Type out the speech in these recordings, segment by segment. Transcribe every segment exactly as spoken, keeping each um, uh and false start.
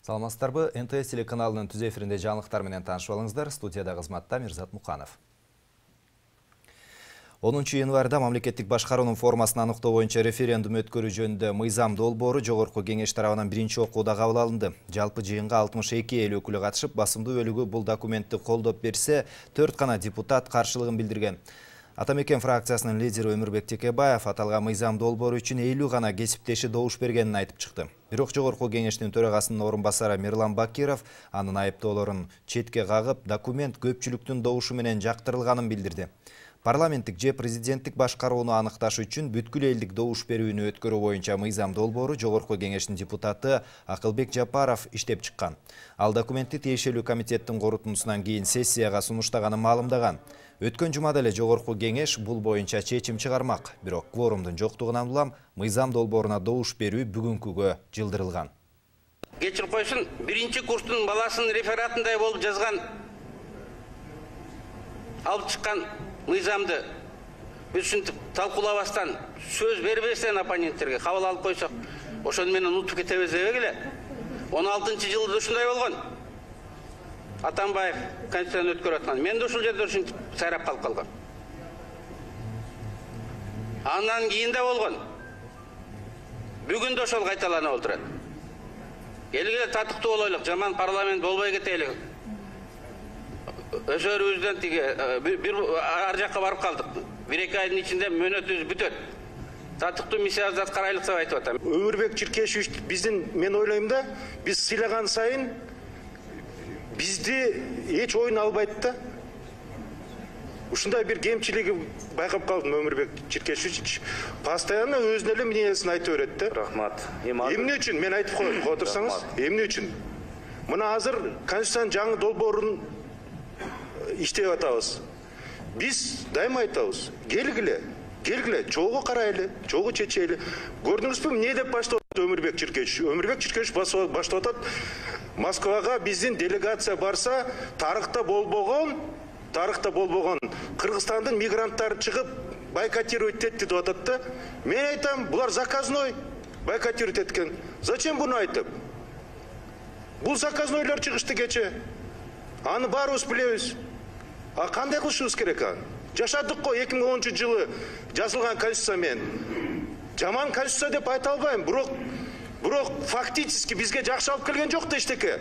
Саламатсыздарбы, эн тэ эс телеканалынын түз эфиринде жаңылыктар менен таанышып алыңыздар. Студияда кызматта Мирзат Муканов. онунчу январда мамлекеттик башкаруунун формасын аныктоо боюнча референдум өткөрүү жөнүндө мыйзам долбоору Жогорку Кеңеш тарабынан биринчи окууда кабыл алынды. Жалпы жыйынга алтымыш эки эл өкүлү катышып, басымдуу бөлүгү бул документти колдоп берсе, төрт гана депутат каршылыгын билдирген. Атамекен фракциясынын лидери Өмүрбек Текебаев аталган мыйзам долбоору үчүн элүү гана кесиптеши добуш бергенин айтып чыкты. Бирок Жогорку Кеңештин төрагасынын орун басары Мирлан Бакиров анын айыптоолорун четке кагып, документ көпчүлүктүн добушу менен жактырылганын билдирди. Парламенттик же президенттик башкарууну аныкташ үчүн бүткүл элдик добуш берүүнү өткөрүү боюнча мыйзам долбоору Жогорку Кеңештин депутаты Акылбек Жапаров иштеп чыккан. Ал документти тиешелүү комитеттин корутундусунан кийин сессияга сунуштаганын маалымдаган. Өткөн жумада эле Жогорку Кеңеш бул боюнча чечим чыгармак, бирок кворумдун жоктугунан улам мыйзам долбооруна добуш берүү бүгүнкүгө жылдырылган. Кечирип койсун, биринчи курстун баласынын рефератындай болуп жазган, алып чыккан мыйзамды биз ушинтип талкуулабастан, сөз бербестен оппоненттерге кабыл алып койсок, ошону менен унутуп кетебиз деп эле. он алтынчы жылда ушундай болгон. Атамбаев конституцияны өткөрүп аткан. Мен да ушул жерде ушинтип сайрап калып калгам. Андан кийин да болгон. Бүгүн да ошол кайталанып отурат. Элге татыктуу болойлук, жаман парламент болбой кетели. Өсөрүбүздөн тиги бир ар жакка барып калдык. бир эки айдын ичинде мөөнөтүбүз бүтөт. Татыктуу миссиябызды аткарайлык деп айтып атам. Өмүрбек Чиркешевич биздин, мен ойлойм да, биз сыйлаган сайын бизди эч ойун албайт да. Ушундай бир кемчилиги байкап калдым. Өмүрбек Чиркешевич постоянно өзүнүн эле мнениясын айтып берет да. Рахмат. Эмне үчүн мен айтып коеюн, отурсаңыз, эмне үчүн? Мына азыр Конституциянын жаңы долбоорун иштеп атабыз. Биз дайыма айтабыз, келгиле, келгиле, чогуу карайлы, чогуу чечели. Көрдүңүзбү, эмне деп баштап Өмүрбек Чиркешевич? Өмүрбек Чиркешевич баштап атат. Москвага биздин делегация барса, тарыхта болбогон, тарыхта болбогон Кыргызстандын мигранттары чыгып бойкотировать этти деп атат да. Мен айтам, булар заказной бойкотировать эткен. Зачем буну айтып? Бул заказнойлор чыгышты кече. Аны баарыбыз билебиз. А кандай кылышыбыз керек аны? Жашадык го эки миң онунчу жылы жазылган конституция менен. Жаман конституция деп айта албайм, бирок бирок фактически бизге жакшы алып келген жок да эчтеке.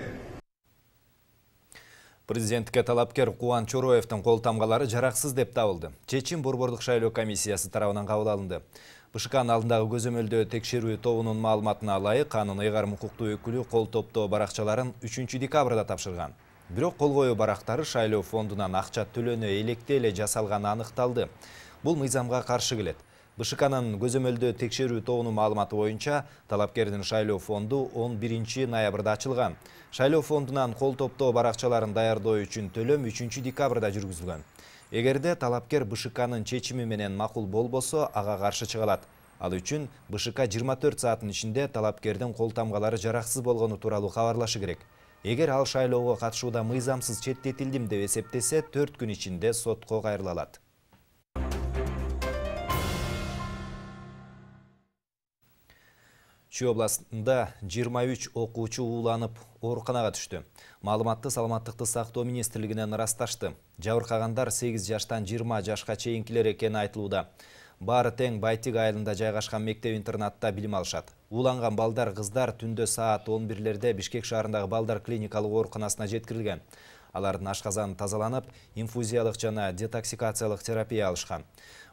Президенттикке талапкер Кубан Чороевдин кол тамгалары жараксыз деп табылды. Чечим Борбордук шайлоо комиссиясы тарабынан кабыл алынды. БШКнын алдындагы көзөмөлдөө текшерүү тобунун маалыматына ылайык, анын ыйгарым укуктуу өкүлү кол топтоо баракчаларын үчүнчү декабрда тапшырган. Бирок кол коюу барактары шайлоо фондунан акча төлөнө электе эле жасалганы аныкталды. Бул мыйзамга каршы келет. БШКнын көзөмөлдөө текшерүү тобунун маалыматы боюнча, талапкердин шайлоо фонду он биринчи ноябрда ачылган. Шайлоо фондунан кол топтоо баракчаларын даярдоо үчүн төлөм үчүнчү декабрда жүргүзүлгөн. Эгерде талапкер БШКнын чечими менен макул болбосо, ага каршы чыга алат. Ал үчүн БШК жыйырма төрт сааттын ичинде талапкердин кол тамгалары жараксыз болгону тууралуу кабарлашы керек. Эгер ал шайлоого катышууда мыйзамсыз четтетилдим деп эсептесе, төрт күн ичинде сотко кайрыла алат. Чүй областында жыйырма үч окуучу ууланып ооруканага түштү. Маалыматты Саламаттыкты сактоо министрлигинен ырасташты. Жабыркагандар сегиз жаштан жыйырма жашка чейинкилер экени айтылууда. Баары тең Байтик айылында жайгашкан мектеп-интернатта билим алышат. Ууланган балдар кыздар түндө саат он бирлерде Бишкек шаарындагы балдар клиникалык ооруканасына жеткирилген. Алардын ашказаны тазаланып, инфузиялык жана детоксикациялык терапия алышкан.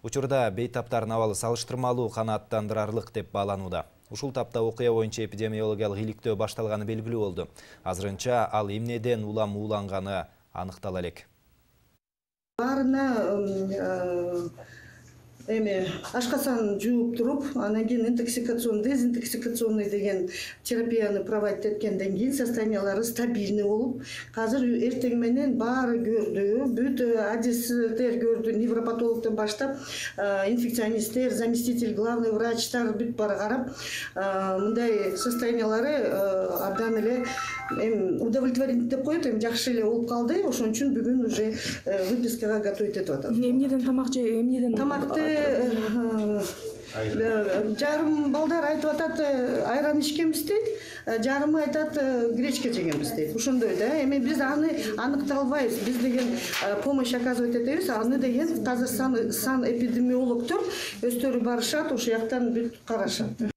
Учурда бейтаптардын абалы салыштырмалуу канааттандырарлык деп бааланууда. Ушул тапта окуя боюнча эпидемиологиялык иликтөө башталганы белгилүү болду. Азырынча ал эмнеден улам ууланганы аныктала элек. Баарына эми ашкасын жууп туруп, анан кийин интоксикацион, дезинтоксикационный деген терапияны проводить эткенден кийин состояниялары стабильный болуп, азыр эртең менен баары көрдү, бүт адистер көрдү, невропатологдон баштап, инфекционисттер, заместитель, главный врачтар бүт баары карап, мындай состояниялары абдан эле удовлетворительный деп коет, эми жакшы эле болуп калды, ошон үчүн бүгүн уже выпискага готовить этип атат. Эмнеден тамак же, эмнеден тамакты Жарым балдар айтып атат, айран ичкенбиз дейт, жарымы айтат, гречка жегенбиз дейт. Ошондой да. Эми биз аны аныктай албайбыз. Биз деген помощь оказывать этебиз, аны деген тазыр сан сан эпидемиологдор өздөрү барышат, ошол жактан бүт карашат.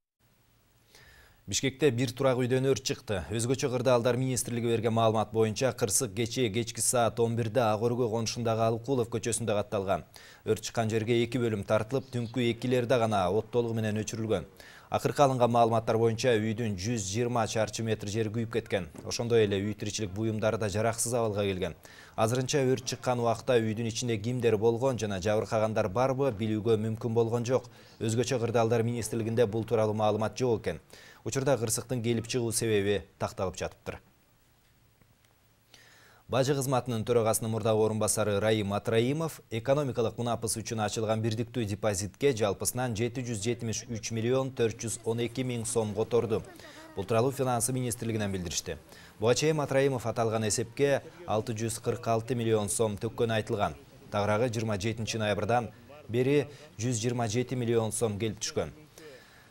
Бишкекте бир турак үйдөн өрт чыкты. Өзгөчө Кырдаалдар министрлиги берген маалымат боюнча кырсык кечээ кечки саат он бирде Ак өргө конушундагы Алыкулов көчөсүндө катталган. Өрт чыккан жерге эки бөлүм тартылып, түнкү экилерде гана от толугу менен өчүрүлгөн. Акыркы алынган маалыматтар боюнча үйдүн жүз жыйырма чарчы метр жери күйүп кеткен. Ошондой эле үй тиричилик буюмдары да жараксыз абалга келген. Азырынча өрт чыккан убакта үйдүн ичинде кимдер болгон жана жабыркагандар барбы билүүгө мүмкүн болгон жок. Өзгөчө Кырдаалдар министрлигинде бул тууралуу маалымат жок экен. Учурда кырсыктын келип чыгуу себеби такталып жатыптыр. Бажы кызматынын төрагасынын мурдагы орун басары Раим Матраимов экономикалык мунапыс үчүн ачылган бирдиктүү депозитке жалпысынан жети жүз жетимиш үч миллион төрт жүз он эки миң сом которду. Бул тууралуу финансы министрлигинен билдиришти. Буга чейин Матраимов аталган эсепке алты жүз кырк алты миллион сом төккөнү айтылган. Тагыраагы жыйырма жетинчи ноябрдан бери жүз жыйырма жети миллион сом келип түшкөн.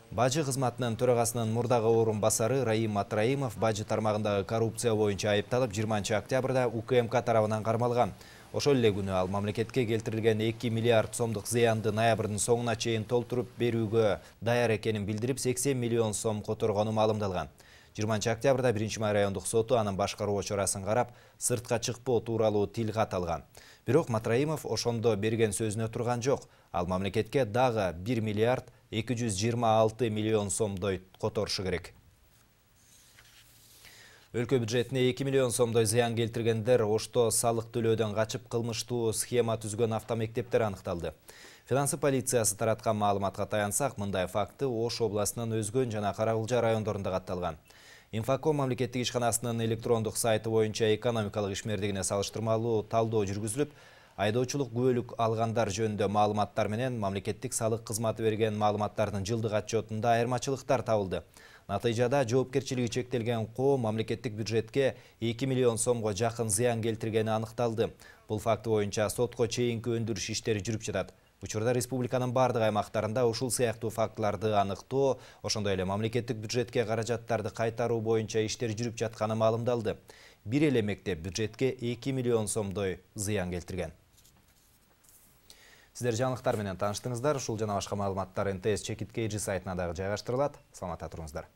Бажы кызматынын төрагасынын мурдагы орун басары Раим Матраимов бажы тармагындагы коррупция боюнча айыпталып жыйырманчы октябрда У К М К тарабынан кармалган. Ошол эле күнү ал мамлекетке келтирилген эки миллиард сомдук зыянды ноябрдын соңуна чейин толтуруп берүүгө даяр экенин билдирип сексен миллион сом которгону маалымдалган. жыйырманчы октябрда биринчи май райондук соту анын башкаруу чарасын карап, сыртка чыкпоо тууралуу тил кат алган. Бирок Матраимов ошондо берген сөзүнө турган жок. Ал мамлекетке дагы бир миллиард эки жүз жыйырма алты миллион сомдой которушу керек. Өлкө бюджетине эки миллион сомдой зыян келтиргендер Ошто салык төлөөдөн качып кылмыштуу схема түзгөн автомектептер аныкталды. Финансы полициясы тараткан маалыматка таянсак, мындай факты Ош областынын Өзгөн жана Карагылжа райондорунда катталган. Инфоком мамлекеттик ишканасынын электрондук сайты боюнча экономикалык ишмердигине салыштырмалуу талдоо жүргүзүлүп, айдоочулук күбөлүк алгандар жөнүндө маалыматтар менен мамлекеттик салык кызматы берген маалыматтардын жылдык отчетунда айырмачылыктар табылды. Натыйжада жоопкерчилиги чектелген коом мамлекеттик бюджетке эки миллион сомго жакын зыян келтиргени аныкталды. Бул факты боюнча сотко чейинки өндүрүш иштери жүрүп жатат. Учурда республиканын бардык аймактарында ушул сыяктуу фактыларды аныктоо, ошондой эле мамлекеттик бюджетке каражаттарды кайтаруу боюнча иштер жүрүп жатканы маалымдалды. Бир эле мектеп бюджетке эки миллион сомдой зыян келтирген. Сиздер жаңылыктар менен тааныштыңыздар. Ушул жана башка маалыматтар Н Т С Чекит Кей Джи сайтына дагы жайгаштырылат. Саламатта туруңуздар.